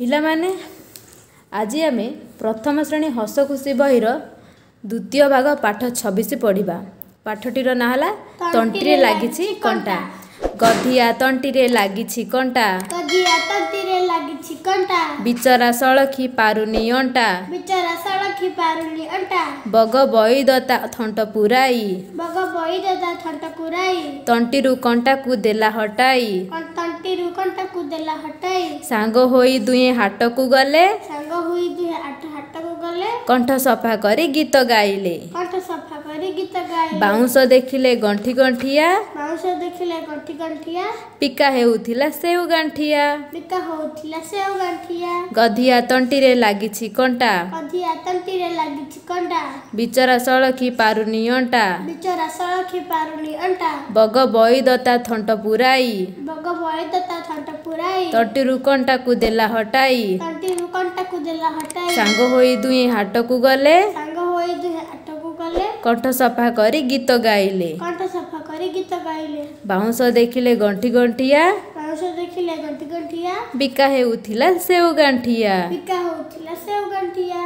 ପିଲାମାନେ, ଆଜି ଆମେ ପ୍ରଥମ ଶ୍ରେଣୀ ହସ ଖୁସି ବହିର ଦ୍ୱିତୀୟ ଭାଗ ପାଠ 26 ପଢ଼ିବା। ପାଠଟିର ନାଁ ହେଲା ତଣ୍ଟିରେ ଲାଗିଛି କଣ୍ଟା। ଗଧିଆ ତଣ୍ଟିରେ ଲାଗିଛି କଣ୍ଟା, ଗଧିଆ ତଣ୍ଟିରେ ଲାଗିଛି କଣ୍ଟା, ବିଚରା ସଳଖି ପାରୁନି ଅଣ୍ଟା, ବିଚରା ସଳଖି ପାରୁନି ଅଣ୍ଟା। ବଗ ବଇଦ ତା ଥଣ୍ଟ ପୁରାଇ, ବଗ ବଇଦ ତା ଥଣ୍ଟ ପୁରାଇ, ତଣ୍ଟିରୁ କଣ୍ଟାକୁ ଦେଲା ହଟାଇ, ତଣ୍ଟିରୁ କଣ୍ଟାକୁ ଦେଲା ହଟାଇ। ସାଙ୍ଗ ହୋଇ ଦୁହେଁ ହାଟକୁ ଗଲେ, ସାଙ୍ଗ ହୋଇ ଦୁହେଁ ହାଟକୁ ଗଲେ, କଣ୍ଠ ସଫା କରି ଗୀତ ଗାଇଲେ, କଣ୍ଠ ସଫା କରି ଗୀତ ଗାଇଲେ। ବାଉଁଶ ଦେଖିଲେ ଗଣ୍ଠି ଗଣ୍ଠିଆ, ବାଉଁଶ ଦେଖିଲେ ଗଣ୍ଠି ଗଣ୍ଠିଆ, ପିକା ହେଉଥିଲା ସେଉ ଗାଣ୍ଠିଆ, ବିକା ହଉଥିଲା ସେଉ ଗାଣ୍ଠିଆ। ଗଧିଆ ତଣ୍ଟିରେ ଲାଗିଛି କଣ୍ଟା, ଗଧିଆ ତଣ୍ଟିରେ ଲାଗିଛି କଣ୍ଟା, ବିଚରା ସଳଖି ପାରୁନି ଅଣ୍ଟା, ବିଚରା ସଳଖି ପାରୁନି ଅଣ୍ଟା। ବଗ ବଇଦ ତା ଥଣ୍ଟ ପୁରାଇ, ବଗ ବଇଦ ତା ଥଣ୍ଟ ପୁରାଇ, ତଣ୍ଟିରୁ କଣ୍ଟାକୁ ଦେଲା ହଟାଇ, ତଣ୍ଟିରୁ କଣ୍ଟାକୁ ଦେଲା ହଟାଇ। ସାଙ୍ଗ ହୋଇ ଦୁହେଁ ହାଟକୁ ଗଲେ, ସାଙ୍ଗ ହୋଇ ଦୁହେଁ ହାଟକୁ ଗଲେ, କଣ୍ଠ ସଫା କରି ଗୀତ ଗାଇଲେ, କଣ୍ଠ ସଫା କରି ଗୀତ ଗାଇଲେ। ବାଉଁଶ ଦେଖିଲେ ଗଣ୍ଠି ଗଣ୍ଠିଆ, ବାଉଁଶ ଦେଖିଲେ ଗଣ୍ଠି ଗଣ୍ଠିଆ, ବିକା ହେଉଥିଲା ସେଉ ଗାଣ୍ଠିଆ, ବିକା ହଉଥିଲା ସେଉ ଗାଣ୍ଠିଆ।